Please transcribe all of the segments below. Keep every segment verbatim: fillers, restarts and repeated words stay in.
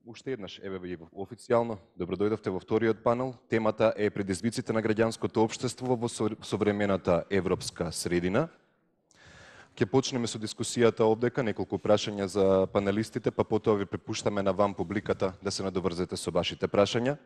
Уште еднаш, еве ви официјално, добродојдовте во вториот панел. Темата е предизвиците на граѓанското општество во современата европска средина. Ќе почнеме со дискусијата овдека, неколку прашања за панелистите, па потоа ви препуштаме на вам публиката да се надоврзете со вашите прашања.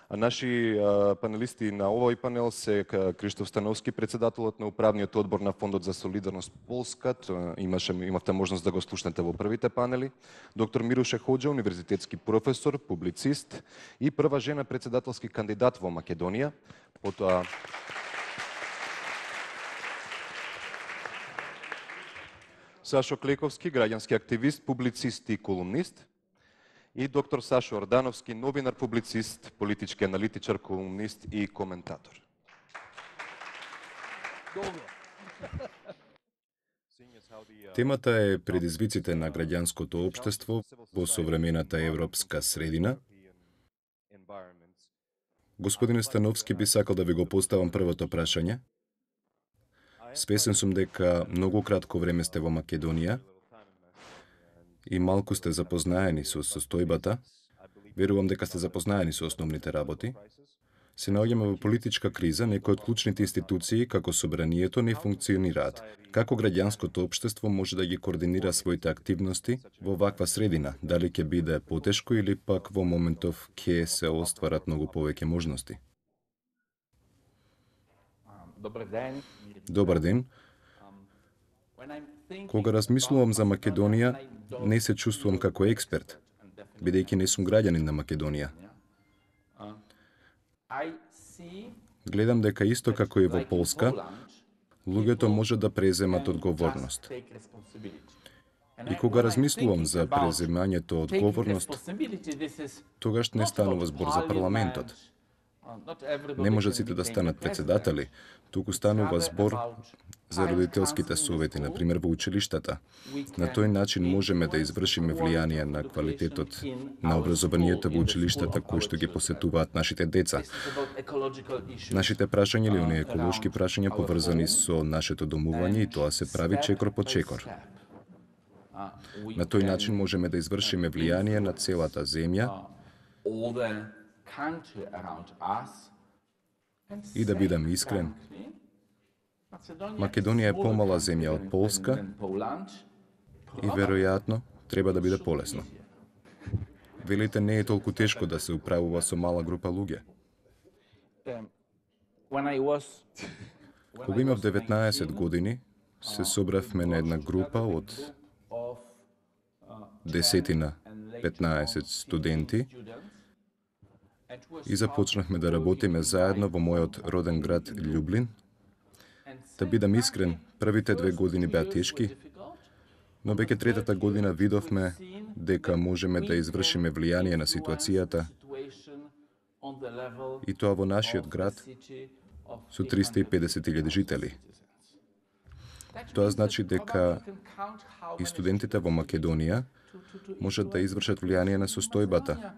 А наши а, панелисти на овој панел се Криштоф Становски, председателот на управниот одбор на Фондот за солидарност Полска. Имаше имавте можност да го слушнете во првите панели. Доктор Мируше Хоџа, универзитетски професор, публицист и прва жена председателски кандидат во Македонија. Потоа Сашо Клековски, граѓански активист, публицист и колумнист. И доктор Сашо Ордановски, новинар, публицист, политички аналитичар, колумнист и коментатор. Темата е предизвиците на граѓанското општество во современата европска средина. Господин Становски, би сакал да ви го поставам првото прашање. Свесен сум дека многу кратко време сте во Македонија и малку сте запознаени со состојбата. Верувам дека сте запознаени со основните работи. Се наоѓаме во политичка криза, некои од клучните институции, како собранието, не функционираат. Како граѓанското општество може да ги координира своите активности во ваква средина? Дали ќе биде потешко или пак во моментов ќе се остварат многу повеќе можности? Добар ден. Добар ден. Кога размислувам за Македонија, не се чувствувам како експерт, бидејќи не сум граѓанин на Македонија. Гледам дека исто како и во Полска, луѓето може да преземат одговорност. И кога размислувам за преземањето одговорност, тогаш не станува збор за парламентот. Не можат сите да станат председатели, туку станува збор за родителските совети, например во училиштата. На тој начин можеме да извршиме влијание на квалитетот на образованието во училиштата кои што ги посетуваат нашите деца. Нашите прашања или оние еколошки прашања поврзани со нашето домување и тоа се прави чекор по чекор. На тој начин можеме да извршиме влијание на целата земја и да бидам искрен, Македонија е помала земја од Полска и веројатно треба да биде полесно. Велите не е толку тешко да се управува со мала група луѓе. Кога имав деветнаесет години, се собравме на една група од десетина, петнаесет студенти и започнахме да работиме заедно во мојот роден град Љублин. Да бидам искрен, првите две години беа тешки, но веќе третата година видовме дека можеме да извршиме влијание на ситуацијата и тоа во нашиот град со триста и педесет илјади жители. Тоа значи дека и студентите во Македонија можат да извршат влијание на состојбата.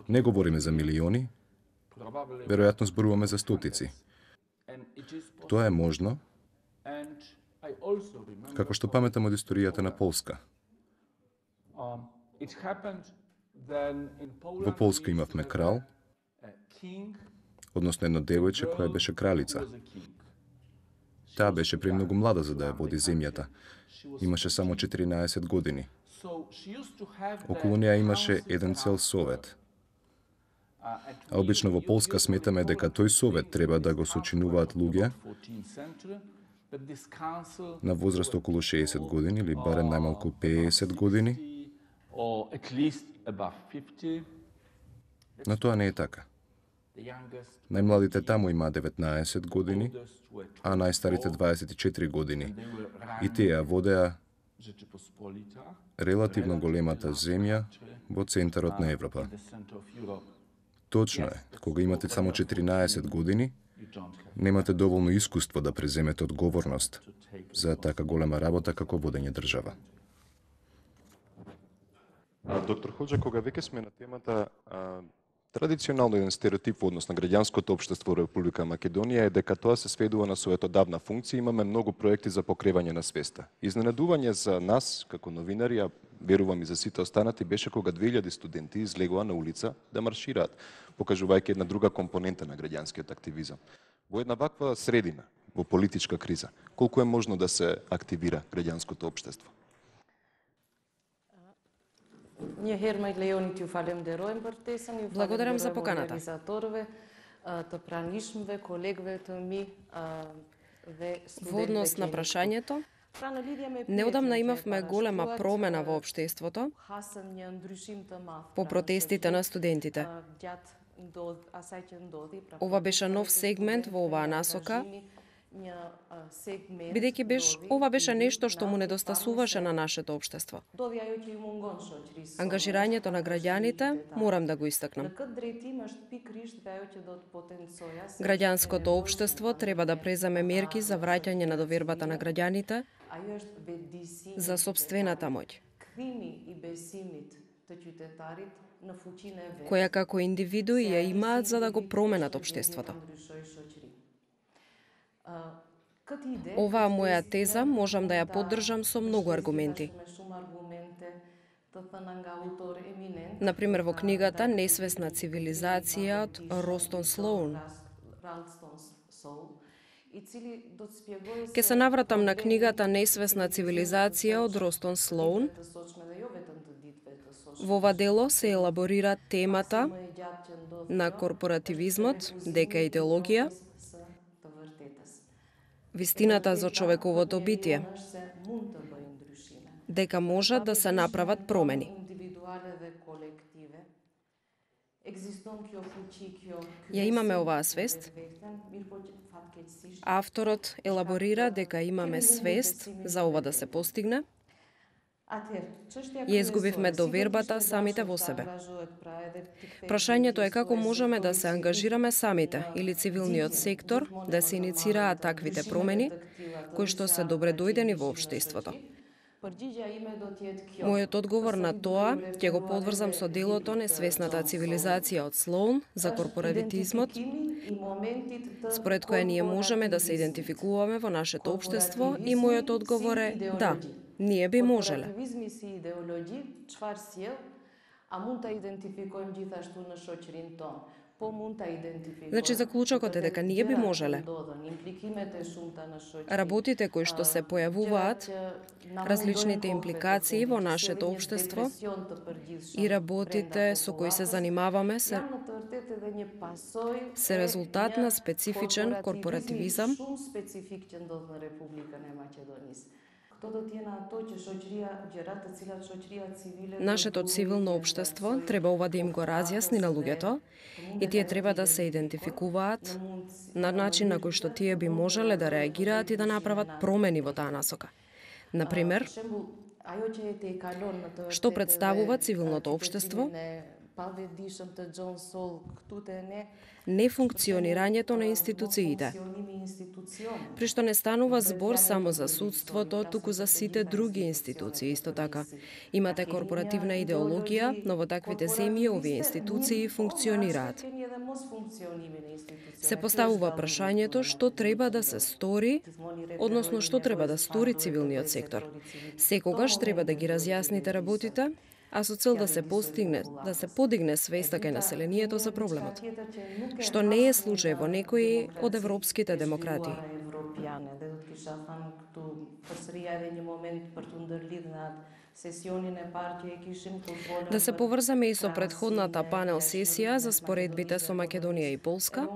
Не говориме за милиони, веројатно зборуваме за стотици. Тоа е можно, како што паметам од историјата на Полска. Во Полска имавме крал, односно едно девојче која беше кралица. Таа беше премногу млада за да ја води земјата. Имаше само четиринаесет години. Околу неа имаше еден цел совет. А обично во Полска сметаме дека тој совет треба да го сочинуваат луѓе на возраст околу шеесет години или барем најмалку пеесет години. Но тоа не е така. Најмладите таму имаат деветнаесет години, а најстарите дваесет и четири години. И тие водеа релативно големата земја во центарот на Европа. Точно е, кога имате само четиринаесет години, немате доволно искуство да преземете одговорност за така голема работа како водење држава. Доктор Хоџа, кога веќе сме на темата, а, Традиционално еден стереотип во однос на граѓанското општество во Република Македонија е дека тоа се сведува на својата давна функција. Имаме многу проекти за покревање на свеста. Изненадување за нас, како новинари, а верувам и за сите останати, беше кога две илјади студенти излегоа на улица да маршираат, покажувајќи една друга компонента на граѓанскиот активизам. Во една ваква средина, во политичка криза, колку е можно да се активира граѓанското општество? Благодарам за поканата. Во однос на прашањето, неодамна имавме голема промена во општеството по протестите на студентите. Ова беше нов сегмент во оваа насока, бидејќи беше, ова беше нешто што му недостасуваше на нашето општество. Ангажирањето на граѓаните морам да го истакнам. Граѓанското општество треба да преземе мерки за враќање на довербата на граѓаните за сопствената моќ, која како индивидуи ја имаат за да го променат општеството. Оваа моја теза можам да ја поддржам со многу аргументи. Например, во книгата "Несвесна цивилизација" од Ростон Слоун. Ке се навратам на книгата "Несвесна цивилизација" од Ростон Слоун. Во ова дело се елаборира темата на корпоративизмот, дека е идеологија, вистината за човековото битие, дека можат да се направат промени. Ја имаме оваа свест. Авторот елаборира дека имаме свест за ова да се постигне. Ја изгубивме довербата самите во себе. Прашањето е како можеме да се ангажираме самите или цивилниот сектор да се иницираат таквите промени, кои што се добредојдени во општеството. Мојот одговор на тоа ќе го подврзам со делото "Несвесната цивилизација" од Слоун за корпоративизмот, според која ние можеме да се идентификуваме во нашето општество, и мојот одговор е да, ние би можеле. Значи, заклучокот е дека ние би можеле. Работите кои што се појавуваат, различните импликации во нашето општество и работите со кои се занимаваме се, се резултат на специфичен корпоративизам, нашето цивилно општество треба ова да им го разјасни на луѓето и тие треба да се идентификуваат на начин на кој што тие би можеле да реагираат и да направат промени во таа насока. Например, што представува цивилното општество, нефункционирањето на институциите, при што не станува збор само за судството, туку за сите други институции. Исто така, имате корпоративна идеологија, но во таквите земји овие институции функционираат. Се поставува прашањето што треба да се стори, односно што треба да стори цивилниот сектор. Секогаш треба да ги разјасните работите, а со цел да се постигне, да се подигне свеста кај населението за проблемот, што не е случај во некои од европските демократии. Да се поврзаме и со предходната панел сесија за споредбите со Македонија и Полска.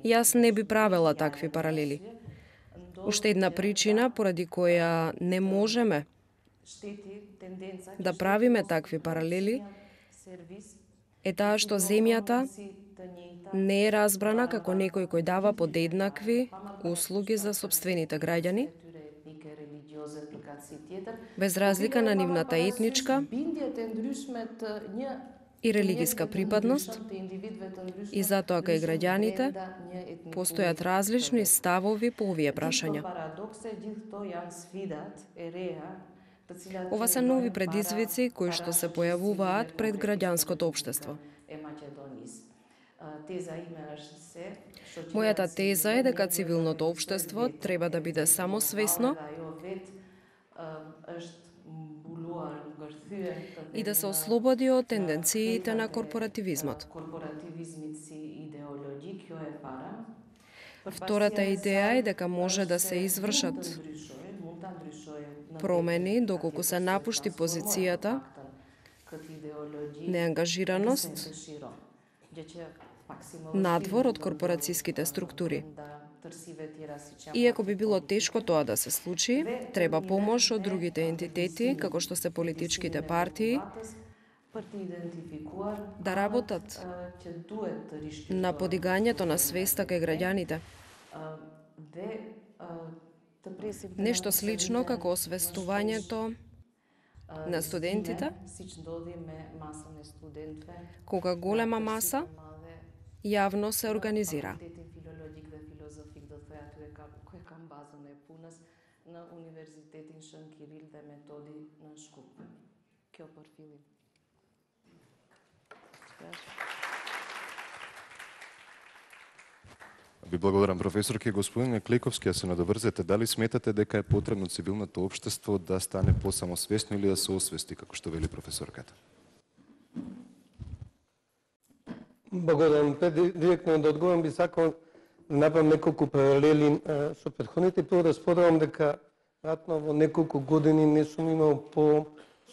Јас не би правела такви паралели. Уште една причина поради која не можеме да правиме такви паралели е таа што земјата не е разбрана како некој кој дава подеднакви услуги за сопствените граѓани, без разлика на нивната етничка и религиска припадност, и затоа кај граѓаните постојат различни ставови по овие прашања. Ова се нови предизвици кои што се појавуваат пред граѓанското општество. Мојата теза е дека цивилното општество треба да биде самосвесно и да се ослободи од тенденциите на корпоративизмот. Втората идеја е дека може да се извршат промени доколку се напушти позицијата, неангажираност, надвор од корпорацијските структури. Иако би било тешко тоа да се случи, треба помош од другите ентитети, како што се политичките партии, да работат на подигањето на свеста кај граѓаните. Нешто слично како освестувањето на студентите, кога голема маса јавно се организира. На универзитетин Шен Кирил де Методи на Шкуп. Кјопор Филип. Ви благодарам, професорке. Господин Клейковски, ја се надоврзете, дали сметате дека е потребно цивилното општество да стане посамосвесно или да се освести, како што вели професорката? Благодарам. Директно да одговорам, би сакал да направам неколку паралели со претходните. Прво да споделам дека ратно во неколку години не сум имал по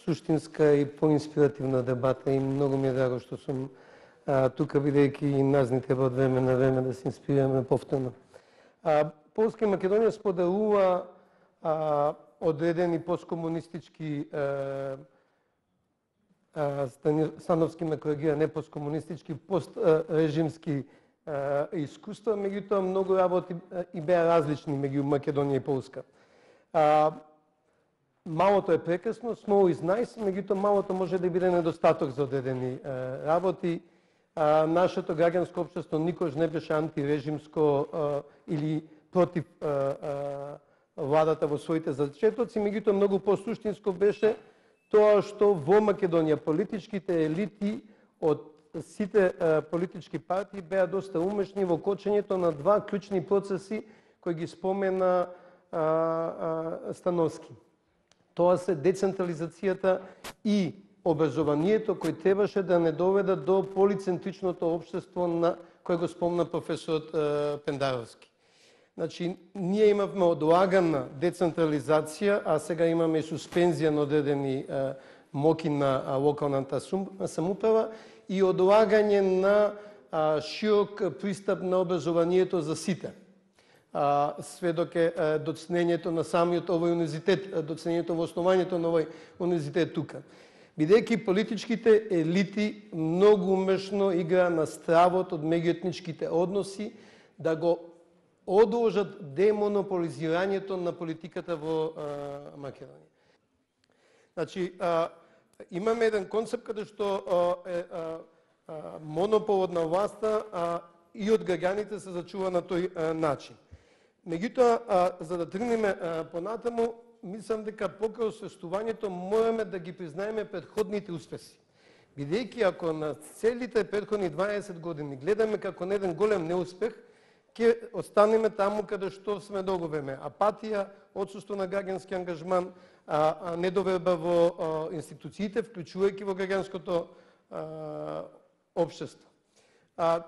суштинска и по-инспиративна дебата и многу ми е драго што сум а, тука, бидејќи и нас ни треба од време на време да се инспирираме повторно. А, Полска и Македонија споделува а, одредени посткомунистички а, а, Становски ме коригира, не посткомунистички, пострежимски искуства, меѓутоа многу работи и беа различни меѓу Македонија и Полска. А, малото е прекрасно, small is nice, меѓутоа малото може да биде недостаток за одредени а, работи. А, нашето граѓанско општество никош не беше антирежимско а, или против а, а, владата во своите зачетоци, меѓутоа многу посуштинско беше тоа што во Македонија политичките елити од сите а, политички партии беа доста умешни во кочењето на два клучни процеси кои ги спомена а, а, Становски. Тоа се децентрализацијата и образованието кои требаше да не доведат до полицентричното општество на кој го спомна професорот а, Пендаровски. Значи, ние имавме одлагана децентрализација, а сега имаме и суспензија на одредени а, моки на а, локалната самоуправа и одлагање на а, широк пристап на образованието за сите. А, сведок е а, доцнењето на самиот овој универзитет, доцнењето во основањето на овој универзитет тука. Бидејќи политичките елити многу умешно игра на стравот од меѓуетничките односи да го одложат демонополизирањето на политиката во а, Македонија. Значи, а, имаме еден концепт каде што а, е а, а, монополот на власта а, и од граѓаните се зачува на тој а, начин. Меѓутоа, а, за да тргнеме а, понатаму, мислам дека покрај освестувањето мораме да ги признаеме претходните успеси. Бидејќи ако на целите претходни дваесет години гледаме како на еден голем неуспех, ќе останеме таму каде што сме долго време. Апатија, отсуство на граѓански ангажман, а, а недоверба во а, институциите, вклучувајќи во граѓанското а, општество. А,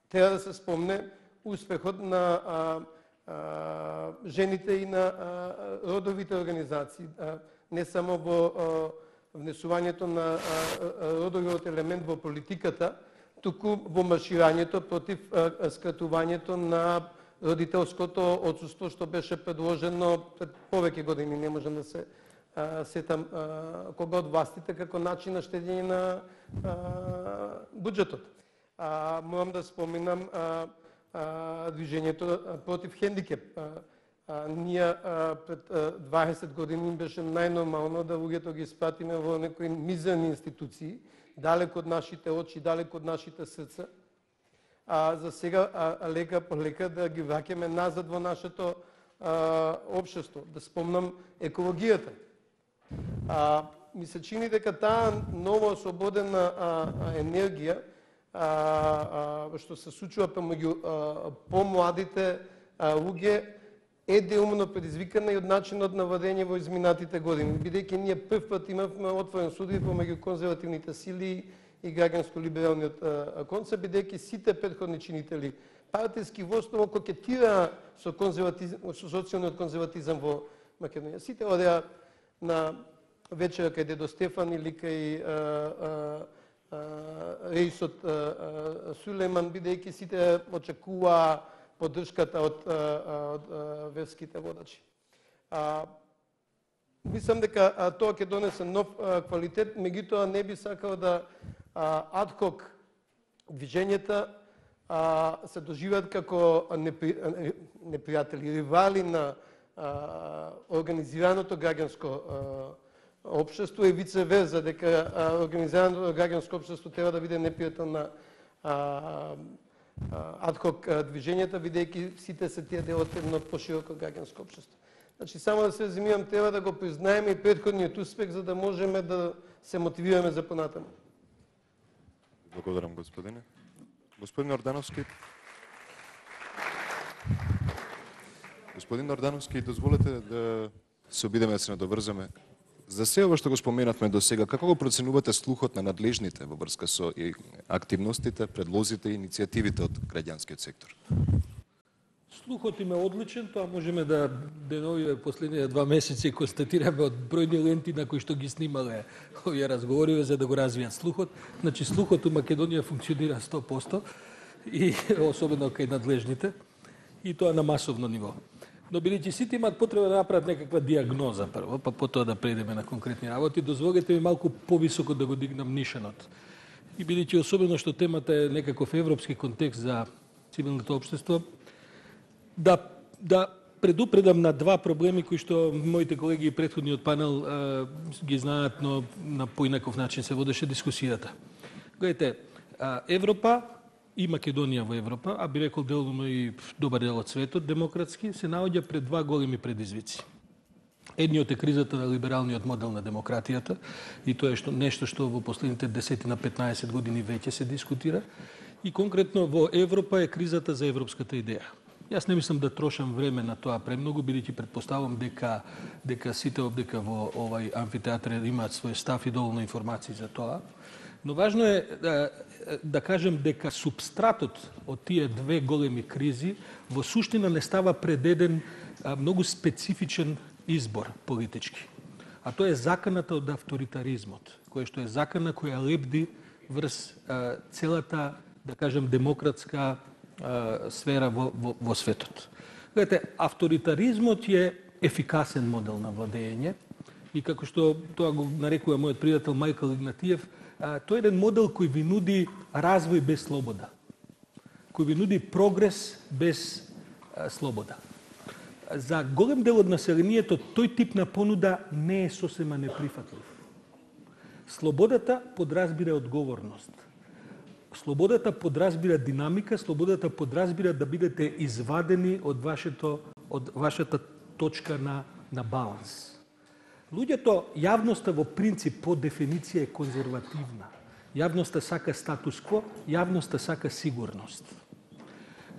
треба да се спомне успехот на а, а, жените и на а, родовите организации, а, не само во а, внесувањето на а, родовиот елемент во политиката, туку во марширањето против а, скратувањето на родителското отсуство, што беше предложено пред повеќе години. Не можам да се а, сетам а, кога од властите како начин на штедење на а, буџетот. А, морам да споменам а, а, движењето против хендикеп. А, а, ние а, пред а, дваесет години беше најнормално да луѓето ги спратиме во некои мизерни институции, далеко од нашите очи, далеко од нашите срца. А за сега а, лека по лека да ги враќаме назад во нашето а, општество. Да спомнам екологијата. А, ми се чини дека таа нова ослободена а, а, енергија а, а, што се случува помеѓу помладите луѓе е деумно предизвикана и од начинот на владење во изминатите години, бидејќи ние прв пат имавме отворен суди помеѓу конзервативните сили и граѓанско-либералниот концепт, бидејќи сите претходни чинители партиски во основа кокетира со конзерватизм, со социјалниот конзерватизам во Македонија. Сите одеа на вечера кај дедо Стефан или кај реисот Сулейман, бидејќи сите очекуваа поддршката од, од, од верските водачи. А, мислам дека а, тоа ќе донесе нов а, квалитет, меѓутоа не би сакал да адхок движењата а, се доживеат како непри, непријатели, ривали на а, организираното граѓанско општество и вице верса, дека а, организираното граѓанско општество треба да биде непријател на а, адхок движењата, бидејќи сите се тие дел од едно пошироко граѓанско општество. Значи, само да се резимирам, треба да го признаеме и претходниот успех, за да можеме да се мотивираме за понатаму. Благодарам, господине. Господин Ордановски. Господин Ордановски, дозволете да се обидеме да се надоврзаме. За се ова што го споменавме до сега, како го проценувате слухот на надлежните во врска со активностите, предлозите и иницијативите од граѓанскиот сектор? Слухот им е одличен, тоа можеме да деновиве последните два месеци констатираме од бројни ленти на кои што ги снимале овие разговори за да го развијат слухот. Значи слухот у Македонија функционира сто проценти и особено кај надлежните и тоа на масовно ниво. Но бидејќи сите имаат потреба да направат некаква диагноза прво, па потоа да преидеме на конкретни работи, дозволете ми малку повисоко да го дигнам нишанот. И бидејќи особено што темата е некаков европски контекст за цивилното општество, да да предупредам на два проблеми кои што моите колеги и претходниот панел а, ги знаат, но на поинаков начин се водеше дискусијата. Гледайте, а, Европа и Македонија во Европа, а би рекол делно и добар дел од светот, демократски, се наоѓа пред два големи предизвици. Едниот е кризата на либералниот модел на демократијата, и тоа е што, нешто што во последните десет на петнаесет години веќе се дискутира, и конкретно во Европа е кризата за европската идеја. Јас не мислам да трошам време на тоа премногу, бидејќи претпоставам дека дека сите обдека во овај амфитеатар имаат свој став и доволно информации за тоа. Но важно е да, да кажем дека субстратот од тие две големи кризи во суштина не става пред еден а, многу специфичен избор политички. А тоа е заканата од авторитаризмот, кој што е закана која лепди врз а, целата, да кажем, демократска а, сфера во, во, во светот. Гледате, авторитаризмот е ефикасен модел на владење и како што тоа го нарекува мојот пријател Мајкл Игнатиев, А, тој е еден модел кој ви нуди развој без слобода, кој ви нуди прогрес без а, слобода. За голем дел од населението тој тип на понуда не е сосема неприфатлив. Слободата подразбира одговорност. Слободата подразбира динамика, слободата подразбира да бидете извадени од вашето од вашата точка на на баланс. Луѓето, јавноста во принцип по дефиниција е конзервативна. Јавноста сака статус кво, јавноста сака сигурност.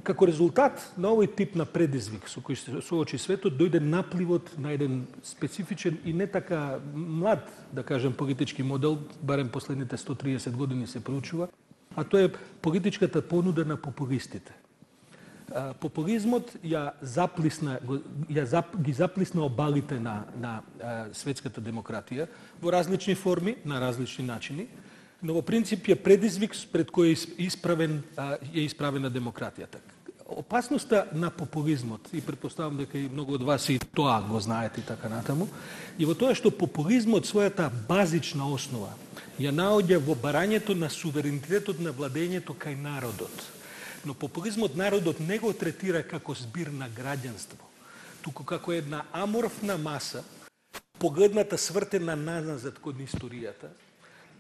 Како резултат на овој тип на предизвик со кој се соочи светот, дојде напливот на еден специфичен и не така млад, да кажем, политички модел, барем последните сто триесет години се проучува, а тоа е политичката понуда на популистите. Популизмот ја заплисна, ја зап, ги заплисна обалите на, на а, светската демократија во различни форми, на различни начини, но во принцип е предизвик пред кој е исправен, а, е исправена демократијата. Опасноста на популизмот, и предпоставам дека и многу од вас и тоа го знаете и така натаму, и во тоа што популизмот својата базична основа ја наоѓа во барањето на суверенитетот на владењето кај народот. Но популизмот народот не го третира како збир на граѓанство, туку како една аморфна маса, погледната свртена назад кон историјата,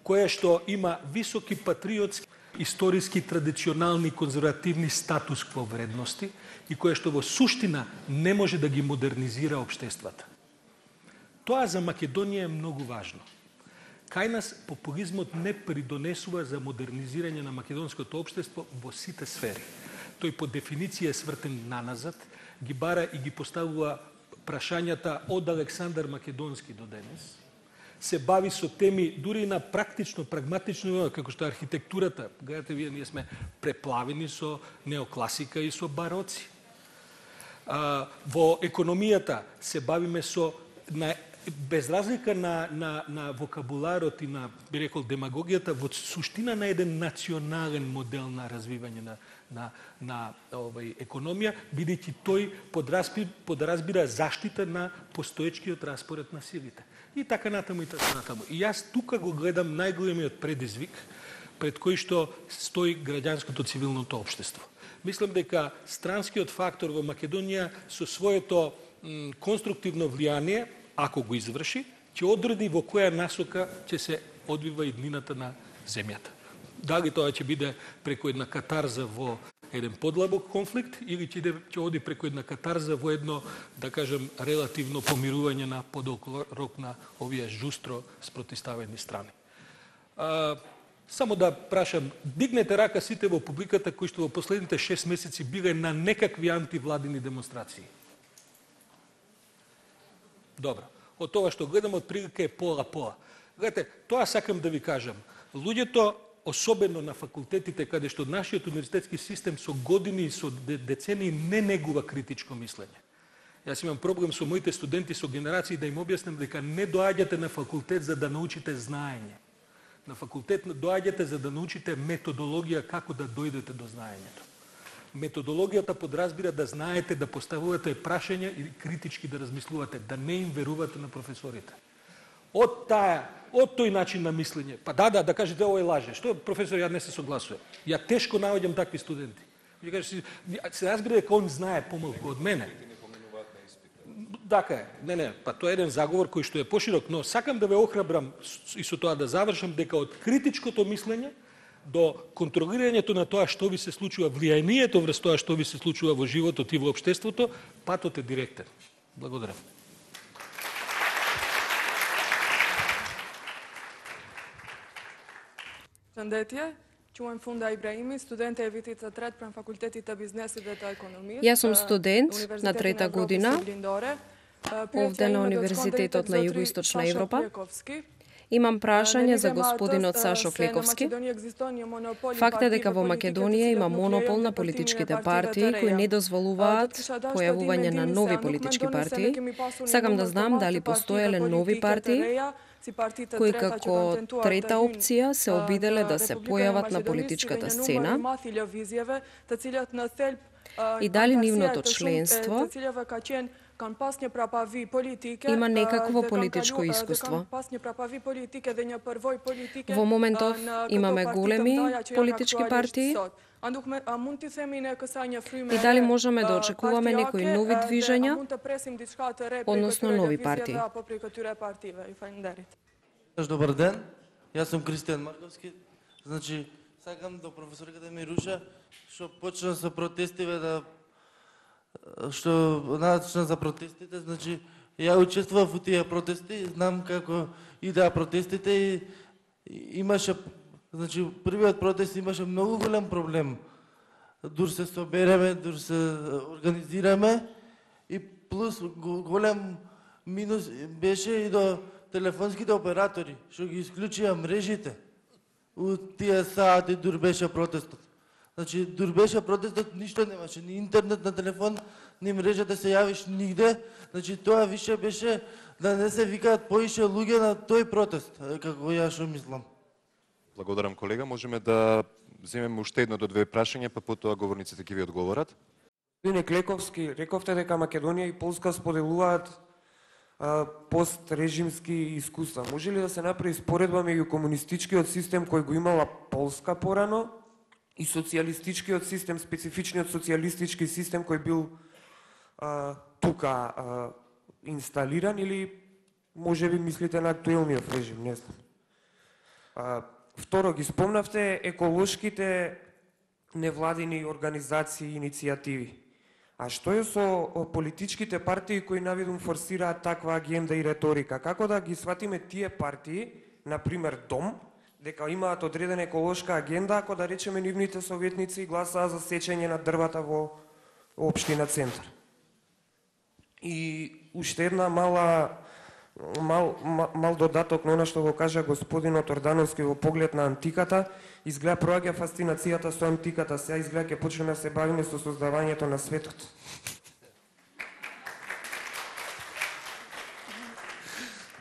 која што има високи патриотски, историски, традиционални, конзервативни статус кво вредности и која што во суштина не може да ги модернизира општествата. Тоа за Македонија е многу важно. Кај нас популизмот не придонесува за модернизирање на македонското општество во сите сфери. Тој по дефиниција е свртен наназад, ги бара и ги поставува прашањата од Александар Македонски до денес, се бави со теми дури на практично, прагматично, како што е архитектурата. Гледате, вие, ние сме преплавени со неокласика и со бароци. А, во економијата се бавиме со, на, без разлика на, на, на вокабуларот и на, би рекол, демагогијата, во суштина на еден национален модел на развивање на, на, на овај, економија, бидејќи тој подразбира, подразбира заштита на постоечкиот распоред на силите. И така натаму, и така натаму. И јас тука го гледам најголемиот предизвик пред кој што стои граѓанското цивилното општество. Мислам дека странскиот фактор во Македонија со своето м, конструктивно влијание, ако го изврши, ќе одреди во која насока ќе се одвива иднината на земјата. Дали тоа ќе биде преку една катарза во еден подлабок конфликт или ќе, ќе оди преку една катарза во едно, да кажем, релативно помирување на подолг рок на овие жустро спротиставени страни. А, само да прашам, дигнете рака сите во публиката кои што во последните шест месеци биле на некакви антивладини демонстрации. Добро. Од тоа што гледам, од прилика е пола-пола. Гледате, тоа сакам да ви кажам. Луѓето, особено на факултетите, каде што нашиот универзитетски систем со години и со децении не негува критичко мислење. Јас имам проблем со моите студенти, со генерации, да им објаснам дека не доаѓате на факултет за да научите знаење. На факултет доаѓате за да научите методологија како да дојдете до знаењето. Методологијата подразбира да знаете да поставувате прашања и критички да размислувате, да не им верувате на професорите. Од таа, од тој начин на мислење, па да, да, да кажете овој лаже. Што, професор, ја не се согласувам. Ја тешко наоѓам такви студенти. Ја кажете, се разбира дека он знае помалку од мене. Така е. Не, не, па тоа е еден заговор кој што е поширок, но сакам да ве охрабрам и со тоа да завршам дека од критичкото мислење до контролирањето на тоа што ви се случува, влијанието врз тоа што ви се случува во животот и во општеството, патот е директен. Благодарам. Përshëndetje, quhem Funda Ibrahimi, studente e vitit të tretë pranë Fakultetit të Biznesit dhe të Ekonomisë. Јас сум студент на трета година овде на Универзитетот на Југоисточна Европа. Имам прашање за господинот Сашо Клековски. Факт е дека во Македонија има монопол на политичките партии кои не дозволуваат појавување на нови политички партии. Сакам да знам дали постоеле нови партии кои како трета опција се обиделе да се појават на политичката сцена и дали нивното членство има некакво политичко искуство. Во моментов имаме големи политички партии и дали можеме да очекуваме некои нови движења, односно нови партии. Добар ден, јас сум Кристијан Марковски. Значи, сакам до професорката ми Руша, што почна со протестиве да што начна за протестите, значи ја учествував во тие протести, знам како идеа протестите и имаше, значи првиот протест имаше многу голем проблем. Дур се собереме, дур се организираме и плюс голем минус беше и до телефонските оператори, што ги исклучија мрежите. У тие сати дур беше протестот. Значи, дур беше протестот, ништо немаше, ни интернет на телефон, ни мрежа да се јавиш нигде. Значи, тоа више беше да не се викаат поише луѓе на тој протест, како ја што мислам. Благодарам, колега. Можеме да земеме уште едно до две прашања, па потоа говорниците ќе ви одговорат. Господине Клековски, рековте дека Македонија и Полска споделуваат пострежимски искуства. Може ли да се направи споредба меѓу комунистичкиот систем кој го имала Полска порано и социјалистичкиот систем, специфичниот социјалистички систем кој бил а, тука а, инсталиран, или може би мислите на актуелниот режим, не знам. А, второ, ги спомнавте еколошките невладини организации и иницијативи. А што е со политичките партии кои навидум форсираат таква агенда и реторика? Како да ги сватиме тие партии, на пример Дом, дека имаат одредена еколошка агенда, ако да речеме нивните советници гласаа за сечење на дрвата во општина Центар? И уште една мала мал, мал, мал додаток на она што го кажа господинот Ордановски во поглед на антиката, изгледа проаѓа фасцинацијата со антиката, сега изгледа ќе почнеме да се бавиме со создавањето на светот.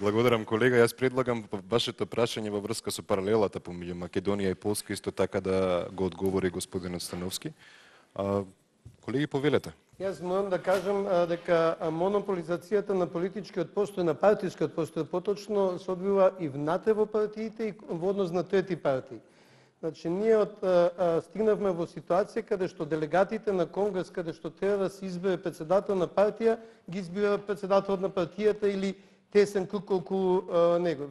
Благодарам, колега. Јас предлагам вашето прашање во врска со паралелата помеѓу Македонија и Полска исто така да го одговори господинот Становски. А, колеги, повелете. Јас морам да кажам а, дека монополизацијата на политичкиот постој, на партискиот постој, поточно се одвива и внатре во партиите и во однос на трети партии. Значи, ние од, а, а, стигнавме во ситуација каде што делегатите на Конгрес, каде што треба да се избере председател на партија, ги избира председателот на партијата или тесен круг околу а, него.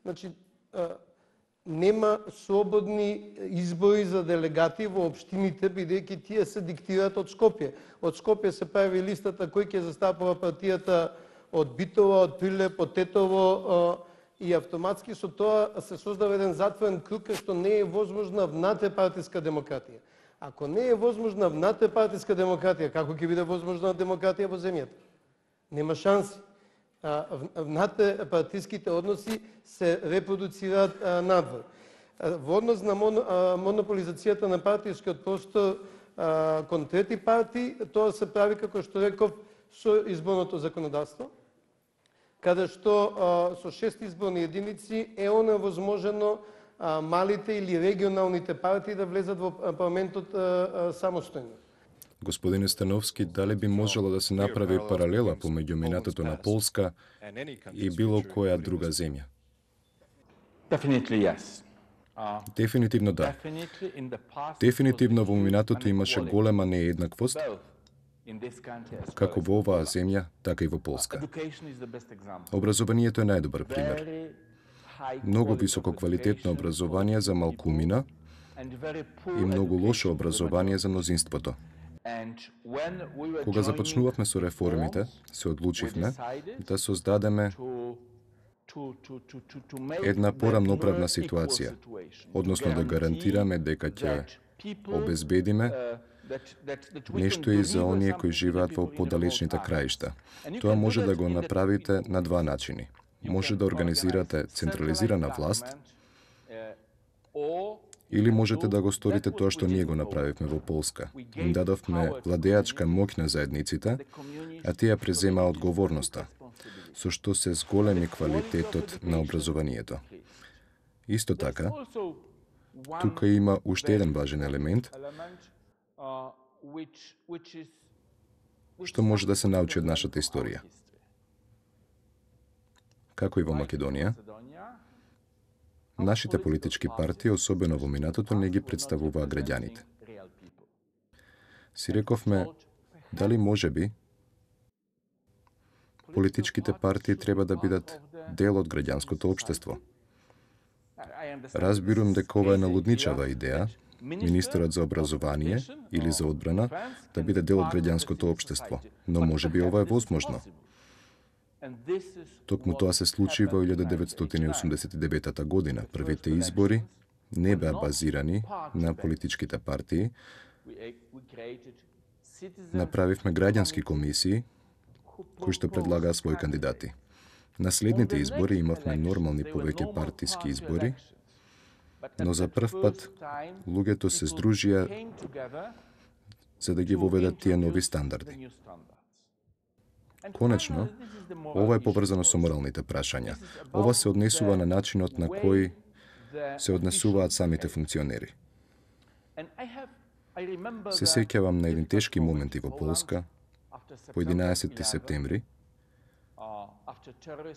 Значи, а, нема слободни избори за делегати во општините, бидејќи тие се диктираат од Скопје. Од Скопје се прави листата кој ќе застапува партијата од Битола, од Прилеп, од Тетово, и автоматски со тоа се создава еден затворен круг што не е возможна внатрепартиска демократија. Ако не е возможна внатрепартиска демократија, како ќе биде возможна демократија во земјата? Нема шанси. Внатрепартиските односи се репродуцираат надвор. Во однос на монополизацијата на партискиот простор кон трети партии, тоа се прави, како што реков, со изборното законодавство, каде што со шест изборни единици е оневозможено малите или регионалните партии да влезат во парламентот самостојно. Господине Становски, дали би можело да се направи паралела помеѓу минатото на Полска и било која друга земја? Дефинитивно да. Дефинитивно во минатото имаше голема нееднаквост, како во оваа земја, така и во Полска. Образованието е најдобар пример. Многу високо квалитетно образование за малкумина и многу лошо образование за мнозинството. Кога започнувавме со реформите, се одлучивме да создадеме една порамноправна ситуација, односно да гарантираме дека ќе обезбедиме нешто и за оние кои живеат во подалечните краишта. Тоа може да го направите на два начини. Може да организирате централизирана власт, или можете да го сторите тоа што ние го направивме во Полска. Им дадовме владеачка моќ на заедниците, а тие преземаа одговорноста, со што се зголеми квалитетот на образованието. Исто така, тука има уште еден важен елемент, што може да се научи од нашата историја. Како и во Македонија, нашите политички партии, особено во минатото, не ги представуваа граѓаните. Си рековме, дали може би политичките партии треба да бидат дел од граѓанското општество. Разбирам дека ова е налудничава идеја, министерот за образование или за одбрана да биде дел од граѓанското општество, но може би ова е возможно. Токму тоа се случи во илјада деветстотини осумдесет и девета година. Првите избори не беа базирани на политичките партии. Направивме граѓански комисии кои што предлагаа своји кандидати. На следните избори имавме нормални повеќе партиски избори, но за прв пат луѓето се здружија за да ги воведат тие нови стандарди. Конечно, ова е поврзано со моралните прашања. Ова се однесува на начинот на кој се однесуваат самите функционери. Се сеќавам на еден тешки моменти во Полска, по единаесетти септември,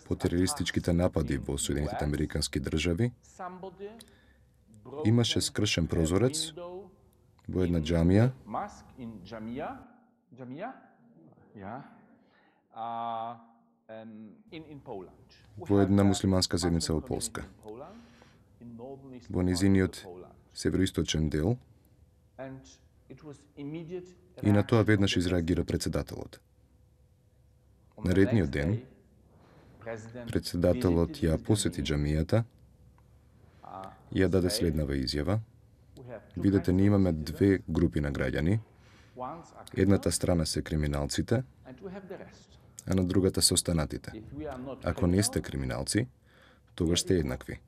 по терористичките напади во Соединетите Американски држави, имаше скршен прозорец во една џамија, во една муслиманска заедница во Полска. Во низиниот североисточен дел И на тоа веднаш изреагира председателот. Наредниот ден, председателот ја посети џамијата и ја даде следнава изјава. Видете, ние имаме две групи на граѓани. Едната страна се криминалците, а на другата се останатите. Ако не сте криминалци, тогаш сте еднакви.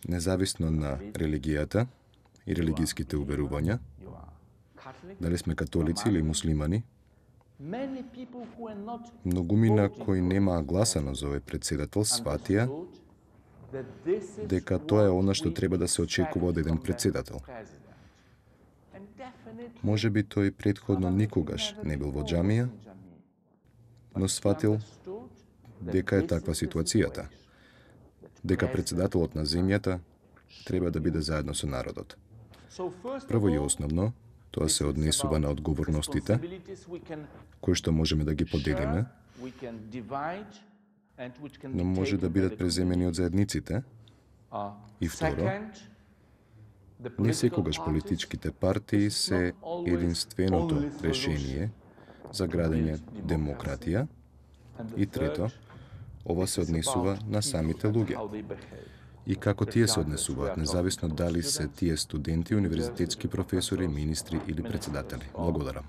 Независно на религијата и религиските уверувања, дали сме католици или муслимани, многумина кои немаа гласано за овој председател сватија дека тоа е она што треба да се очекува од еден председател. Може би тој претходно никогаш не бил во џамија, но сватил дека е таква ситуацијата, дека председателот на земјата треба да биде заедно со народот. Прво и основно, тоа се однесува на одговорностите, кои што можеме да ги поделиме, но може да бидат преземени од заедниците. И второ, не секогаш политичките партии се единственото решение за градење демократија. И трето, ова се однесува на самите луѓе. И како тие се однесуваат, независно дали се тие студенти, универзитетски професори, министри или председатели. Благодарам.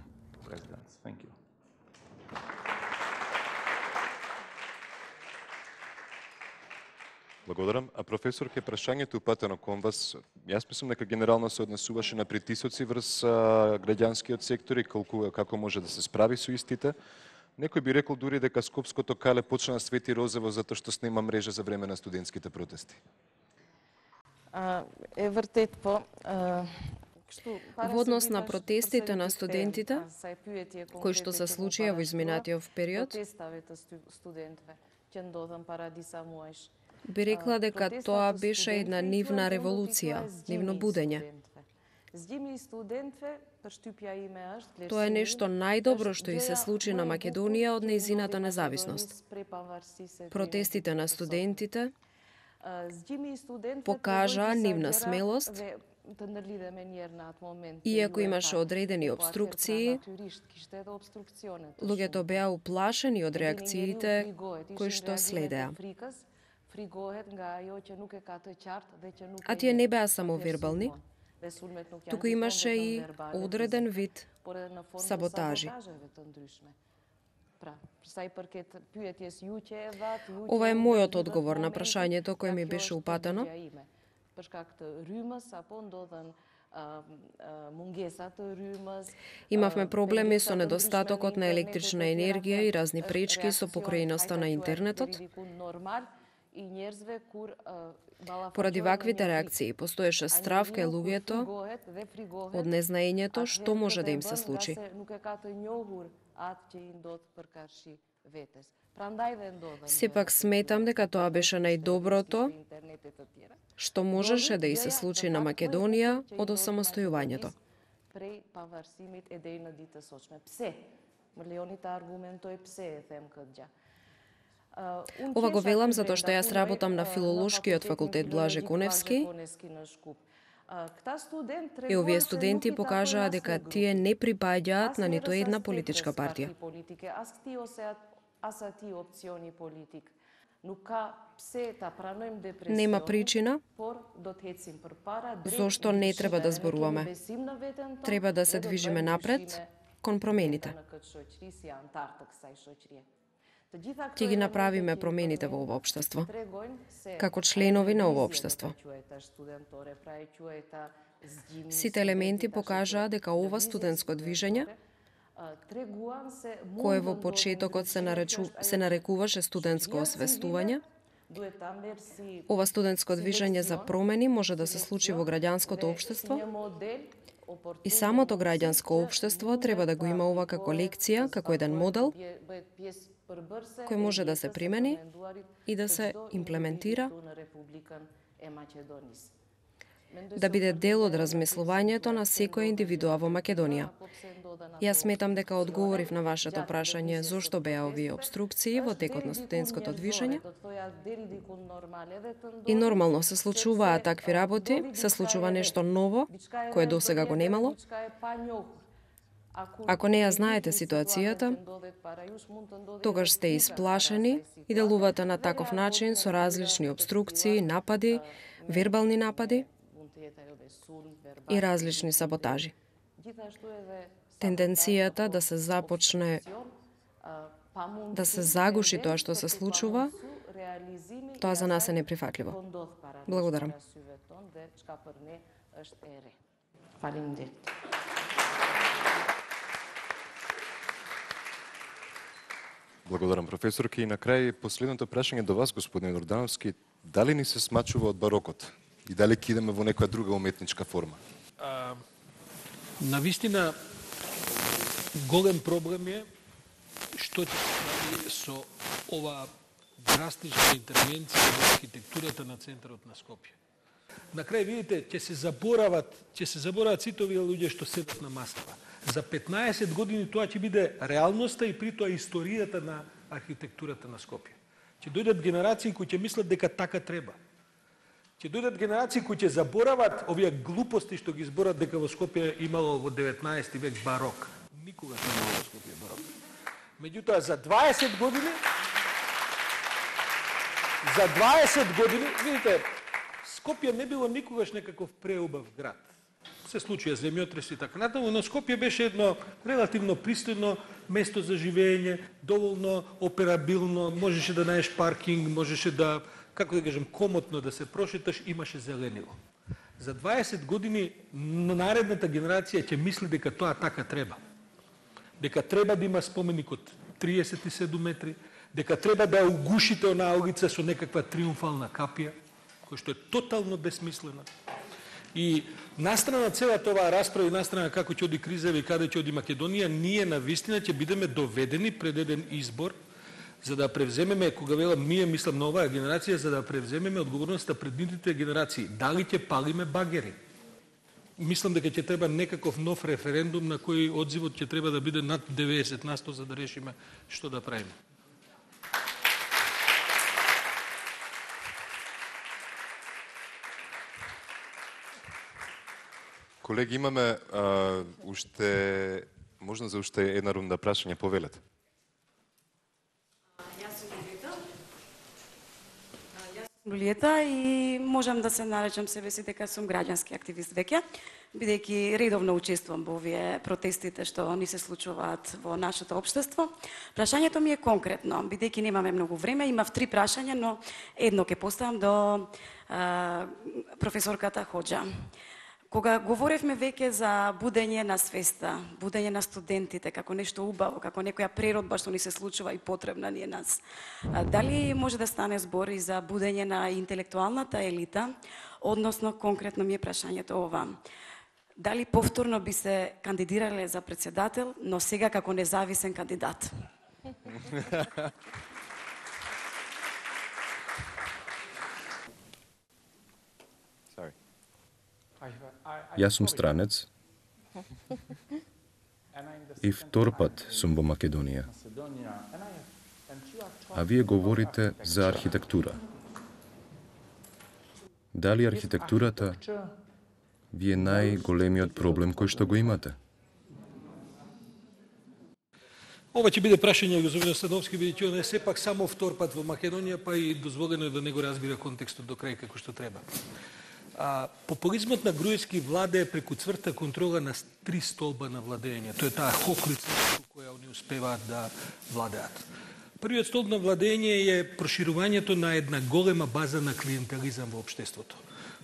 Благодарам. А професор, ке прашањето упатено кон вас, јас мислам дека генерално се однесуваше на притисоци врз граѓанскиот сектор и колку, како може да се справи со истите. Некој би рекол дури дека Скопското кале почна да свети розово затоа што снима мрежа за време на студентските протести. Е вртет по Во однос на протестите на студентите, кои што се случија во изминатиот период, би рекла дека тоа беше една нивна револуција, нивно будење. Тоа е нешто најдобро што и се случи на Македонија од нејзината независност. Протестите на студентите покажаа нивна смелост, иако имаше одредени обструкции, луѓето беа уплашени од реакциите кои што следеа. А тие не беа само вербални, туку имаше и одреден вид саботажи. Ова е мојот одговор на прашањето кој ми беше упатено. Имавме проблеми со недостатокот на електрична енергија и разни пречки со покрајноста на интернетот. Поради ваквите реакции постоеше страв кај луѓето од незнаењето што може да им се случи. Сепак сметам дека тоа беше најдоброто што можеше да и се случи на Македонија од осамостојувањето. Ова го велам затоа што јас работам на филолошкиот факултет Блаже Коневски и овие студенти покажаа дека тие не припаѓаат на ниту една политичка партија. Нема причина зошто не треба да зборуваме. Треба да се движиме напред кон промените. Ќе ги направиме промените во ова општество, како членови на ова општество. Сите елементи покажаа дека ова студентско движење, кое во почетокот се, наречу, се нарекуваше студентско освестување, ова студентско движење за промени може да се случи во граѓанското општество и самото граѓанско општество треба да го има ова како лекција, како еден модел, кој може да се примени и да се имплементира, да биде дел од размислувањето на секоја индивидуа во Македонија. Јас сметам дека одговорив на вашето прашање зошто беа овие обструкции во текот на студентското движење. И нормално се случуваат такви работи, се случува нешто ново, кое досега го немало. Ако не ја знаете ситуацијата, тогаш сте исплашени и делувате на таков начин со различни обструкции, напади, вербални напади и различни саботажи. Тенденцијата да се започне да се загуши тоа што се случува, тоа за нас е неприфатливо. Благодарам. Благодарам, професорки. И на крај, последното прашање до вас, господин Ордановски, дали ни се смачува од барокот? И дали ќе идеме во некоја друга уметничка форма? А, навистина, голем проблем е што ќе се прави со ова драстична интервенција во архитектурата на центарот на Скопје. На крај, видите, ќе се заборават, ќе се заборават сите овие луѓе што седат на масата. За петнаесет години тоа ќе биде реалноста и при тоа историјата на архитектурата на Скопје. Ќе дојдат генерации кои ќе мислат дека така треба. Ќе дојдат генерации кои ќе заборават овие глупости што ги зборат дека во Скопје имало во деветнаесети век барок. Никогаш не имало во Скопје барок. Меѓутоа, за дваесет години, за дваесет години, видите, Скопје не било никогаш некаков преубав град. Се случија земјотреси и така натаму, но Скопје беше едно релативно пристојно место за живење, доволно операбилно, можеше да најдеш паркинг, можеше да, како да кажем, комотно да се прошеташ, имаше зеленило. За дваесет години наредната генерација ќе мисли дека тоа така треба. Дека треба да има споменик од триесет и седум метри, дека треба да угушите онаа улица со некаква триумфална капија, која што е тотално бесмислена. И настрана целата оваа расправа и настрана како ќе оди криза и каде ќе оди Македонија, ние на вистина ќе бидеме доведени пред еден избор за да превземеме, кога велам ние, мислам на оваа генерација, за да превземеме одговорноста пред нивните генерации. Дали ќе палиме багери? Мислам дека ќе треба некаков нов референдум на кој одзивот ќе треба да биде над деветдесет на сто за да решиме што да правиме. Колеги, имаме а, уште, можна за уште една рунда прашање, повелете. Јас сум Лулиета. Јас сум Лулиета и можам да се наречам себе си дека сум граѓански активист веќе, бидејќи редовно учествувам во овие протестите што ни се случуваат во нашето општество. Прашањето ми е конкретно, бидејќи немаме многу време, имав три прашања, но едно ќе поставам до а, професорката Хоџа. Кога говоревме веќе за будење на свеста, будење на студентите, како нешто убаво, како некоја природба што ни се случува и потребна ни е нас, дали може да стане збор и за будење на интелектуалната елита, односно конкретно ми е прашањето ова. Дали повторно би се кандидирале за председател, но сега како независен кандидат? Јас сум странец и втор пат сум во Македонија. А вие говорите за архитектура. Дали архитектурата ви е најголемиот проблем кој што го имате? Ова ќе биде прашање господин Становски, бидејќи он е сепак само втор пат во Македонија, па и дозволено е да не го разбира контекстот до крај како што треба. А, популизмот на Груевски владее преку цврта контрола на три столба на владење. Тоа е таа хоклица која они успеваат да владеат. Првиот столб на владење е проширувањето на една голема база на клиентелизам во општеството.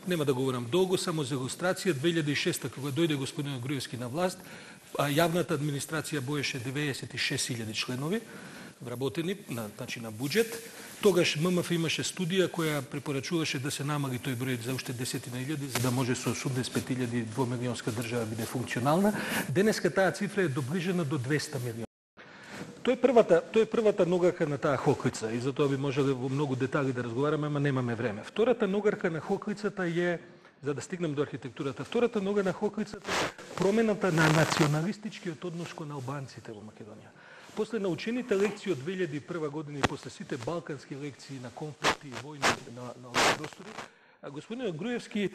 Нема да говорам долго, само за илустрација, две илјади и шеста кога дојде господин Груевски на власт, јавната администрација боеше деветдесет и шест илјади членови, вработени на, значи, на буџет. Тогаш ММФ имаше студија која препорачуваше да се намали тој број за уште десетина илјади, за да може со осумдесет и пет илјади двомилионска држава биде функционална. Денеска таа цифра е доближена до двеста милиони. Тој е првата, тој е првата ногарка на таа хоклица и затоа би можеле во многу детали да разговараме, ама немаме време. Втората ногарка на хоклицата е, за да стигнем до архитектурата, втората нога на хоклицата е промената на националистичкиот однос кон албанците во Македонија. После научените лекции од две илјади и прва година и после сите балкански лекции на конфликти и војни на, на овие простори, Господин Груевски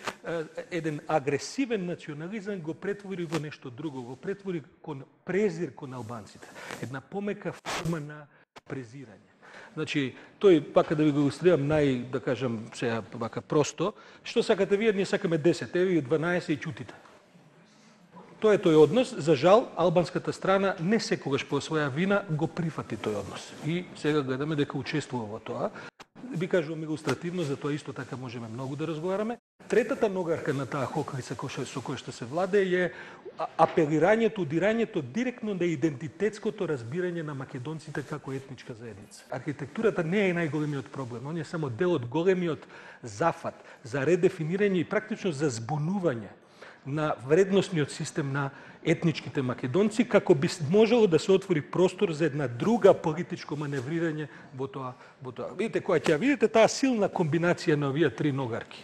еден агресивен национализам го претвори во нешто друго, го претвори кон презир кон албанците. Една помека форма на презирање. Значи, тој, пака да ви го илустрирам нај, да кажам, сега пака просто, што сакате вие, ние сакаме десет, еве и дванаесет и чутите. Тоа е тој однос. За жал, албанската страна не секогаш по своја вина го прифати тој однос. И сега гледаме дека учествува во тоа. Би кажувам илустративно, за тоа исто така можеме многу да разговараме. Третата ногарка на таа хокрица со која што се владее е апелирањето, удирањето директно на идентитетското разбирање на македонците како етничка заедница. Архитектурата не е најголемиот проблем, он е само дел од големиот зафат за редефинирање и практично за збунување на вредносниот систем на етничките македонци, како би можело да се отвори простор за една друга политичко маневрирање во тоа. Во тоа. Видите, која ќе видите таа силна комбинација на овие три ногарки.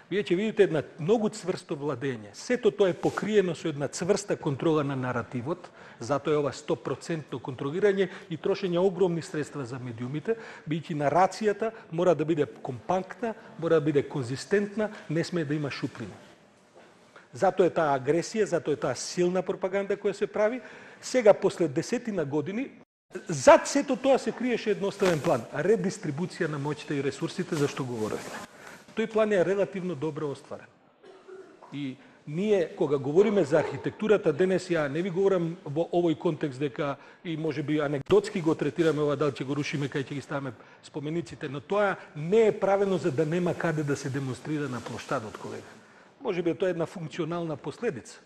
Вие ќе видите една многу цврсто владење. Сето тоа е покриено со една цврста контрола на наративот, затоа е ова сто проценти контролирање и трошење огромни средства за медиумите, бидејќи нарацијата мора да биде компактна, мора да биде конзистентна, не смее да има шуприни. Затоа е таа агресија, затоа е таа силна пропаганда која се прави. Сега, после десетина години, зад сето тоа се криеше едноставен план. Редистрибуција на моќите и ресурсите, за што говоревме. Тој план е релативно добро остварен. И ние, кога говориме за архитектурата, денес ја не ви говорам во овој контекст дека и може би анекдотски го третираме ова, дали ќе го рушиме, кај ќе ги ставаме спомениците, но тоа не е правено за да нема каде да се демонстрира на плоштадот, колега. Може би тоа е една функционална последица.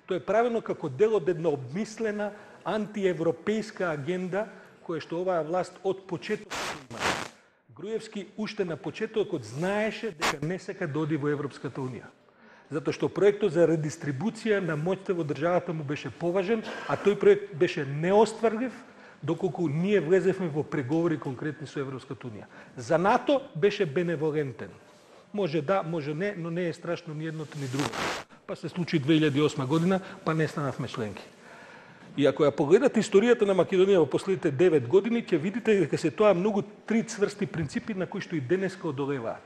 Тоа е правено како дел од една обмислена антиевропејска агенда која што оваа власт од почеток има. Груевски уште на почетокот знаеше дека не сака да оди во Европската унија. Затоа што проектот за редистрибуција на моќта во државата му беше поважен, а тој проект беше неостварлив доколку ние влезевме во преговори конкретни со Европската унија. За НАТО беше беневолентен. Може да, може не, но не е страшно ни едното ни другото. Па се случи две илјади и осма година, па не станавме членки. И ако ја погледате историјата на Македонија во последните девет години, ќе видите дека се тоа многу три цврсти принципи на кои што и денеска одолеваат.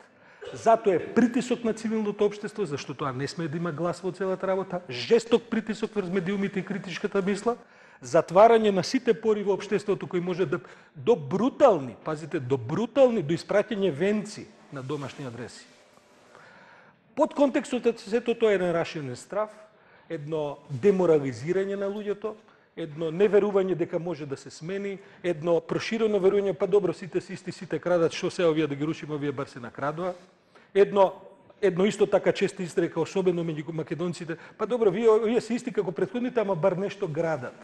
Затоа е притисок на цивилното општество, зашто тоа не смее да има глас во целата работа, жесток притисок врз медиумите и критичката мисла, затварање на сите пори во општеството кои може да до брутални, пазите, до брутални, до испраќање венци на домашни адреси. Под контекстот сето тоа е еден раширен страв, едно деморализирање на луѓето, едно неверување дека може да се смени, едно проширено верување, па добро, сите си исти, сите крадат, што се овие да ги рушиме, овие бар се накрадува. Едно, едно исто така честа изрека, особено меѓу македонците, па добро, вие, овие се исти како претходните, ама бар нешто градат.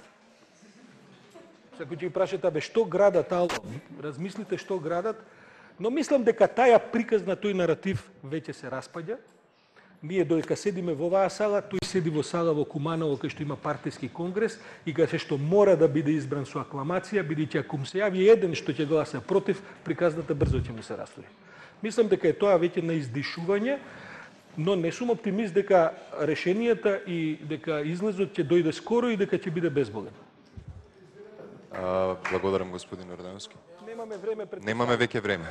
Ако ќе ги прашате, абе, што градат, ало, размислите што градат, но мислам дека таја приказ на тој наратив веќе се распаѓа. Ние додека седиме во оваа сала, тој седи во сала во Куманово, кај што има партиски конгрес и кај што мора да биде избран со акламација, бидејќи ако му се јави еден што ќе гласа против, приказната брзо ќе му се растури. Мислам дека е тоа веќе на издишување, но не сум оптимист дека решенијата и дека излезот ќе дојде скоро и дека ќе биде безболен. А, благодарам, господин Ордановски. Немаме време пред... Немаме веќе време.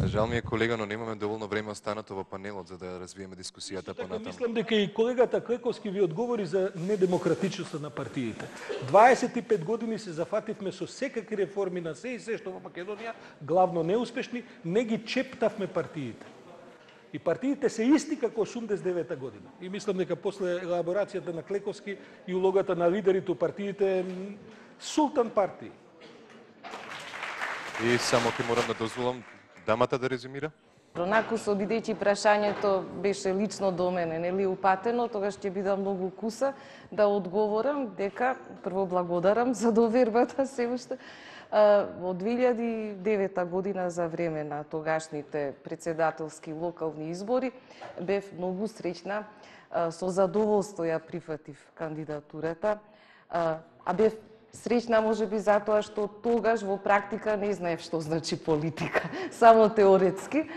Жал ми е, колега, но немаме доволно време останато во панелот за да развиеме дискусијата понатаму. Мислам дека и колегата Клековски ви одговори за недемократичноста на партиите. дваесет и пет години се зафативме со секакви реформи на се и се што во Македонија, главно неуспешни, не ги чептавме партиите. И партиите се исти како осумдесет и девета година. И мислам дека после елаборацијата на Клековски и улогата на лидерите у партиите султан партии. И само ќе морам да дозволам дамата да резюмира. Накусо, бидејќи прашањето беше лично до мене, нели упатено, тогаш ќе бидам многу куса да одговорам дека прво благодарам за довербата се уште. Во две илјади и девета година за време на тогашните председателски локални избори бев многу среќна, со задоволство ја прифатив кандидатурата, а бев среќна можеби затоа што тогаш во практика не знаев што значи политика, само теоретски,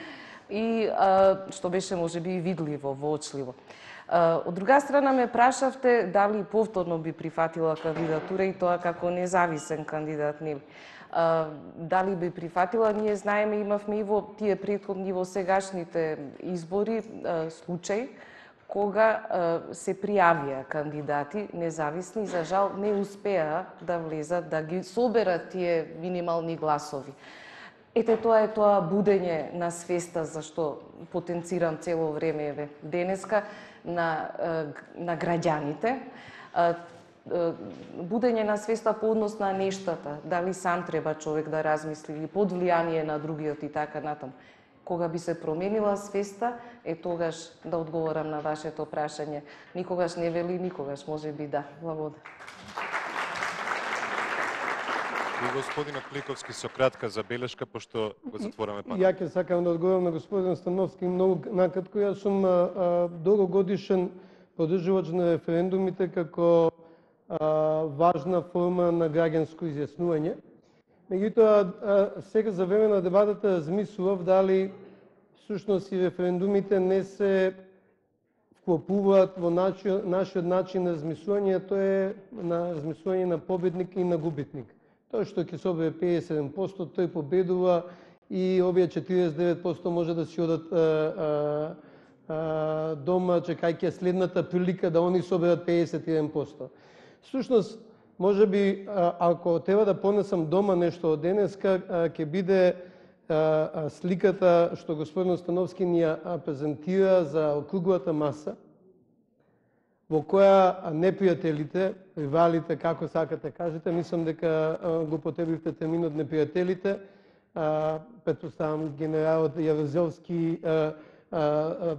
и што беше можеби и видливо, воочливо. Од друга страна ме прашавте дали повторно би прифатила кандидатура и тоа како независен кандидат, нели? Дали би прифатила, ние знаеме, имавме и во тие претходни, во сегашните избори случај кога се пријавија кандидати независни, за жал не успеа да влезат, да ги соберат тие минимални гласови. Ете, тоа е тоа будење на свеста, зашто потенцирам цело време еве денеска на, на граѓаните. Будење на свеста по однос на нештата, дали сам треба човек да размисли или под влијание на другиот и така натаму. Кога би се променила свеста, е тогаш да одговорам на вашето прашање. Никогаш не вели никогаш, може би да. Благодарам. И господинот Пликовски со кратка забелешка, пошто го затвораме панел. Ја ќе сакам да одговорам на господин Становски многу накратко. Јас сум долгогодишен поддржувач на референдумите како а, важна форма на граѓанско изјаснување. Меѓутоа, сега за време на дебатата размислував дали всушност и референдумите не се вклопуваат во нашиот, нашиот начин на размислување, тоа е на размислување на победник и на губитник. Тоа што ќе собере педесет и седум проценти, тој победува и овие четириесет и девет проценти може да си одат а, а, а, дома, чекајќи следната прилика да они соберат педесет и еден проценти. Всушност, може би, ако треба да понесам дома нешто од денеска, ќе биде сликата што господин Становски ни ја презентира за округлата маса, во која непријателите, ривалите, како сакате кажете, мислам дека го потребивте терминот непријателите, претпоставам генералот Јавозелски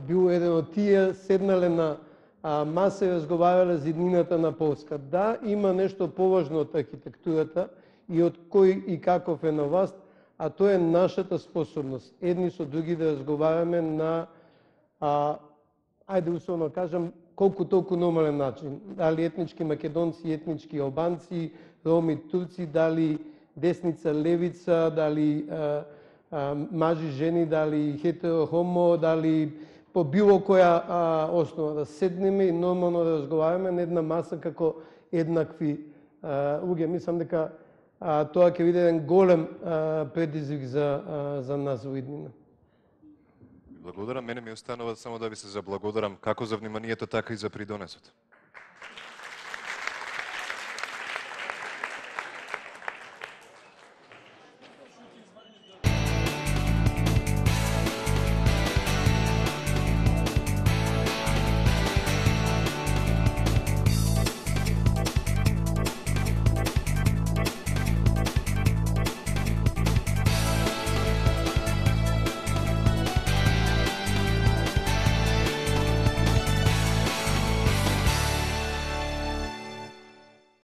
бил еден од тие, седнале на маса и разговарале за иднината на Полска. Да, има нешто поважно од архитектурата и од кој и каков е на власт, а тоа е нашата способност едни со други да разговараме на, а, ајде условно кажам, колку толку нормален начин. Дали етнички македонци, етнички албанци, роми, турци, дали десница, левица, дали а, а, мажи, жени, дали хетеро, хомо, дали по било која а, основа да седнеме и нормално да разговараме на една маса како еднакви луѓе. Мислам дека а, тоа ќе биде еден голем а, предизвик за, а, за нас во иднина. Благодарам. Мене ми останува само да ви се заблагодарам како за вниманието, така и за придонесот.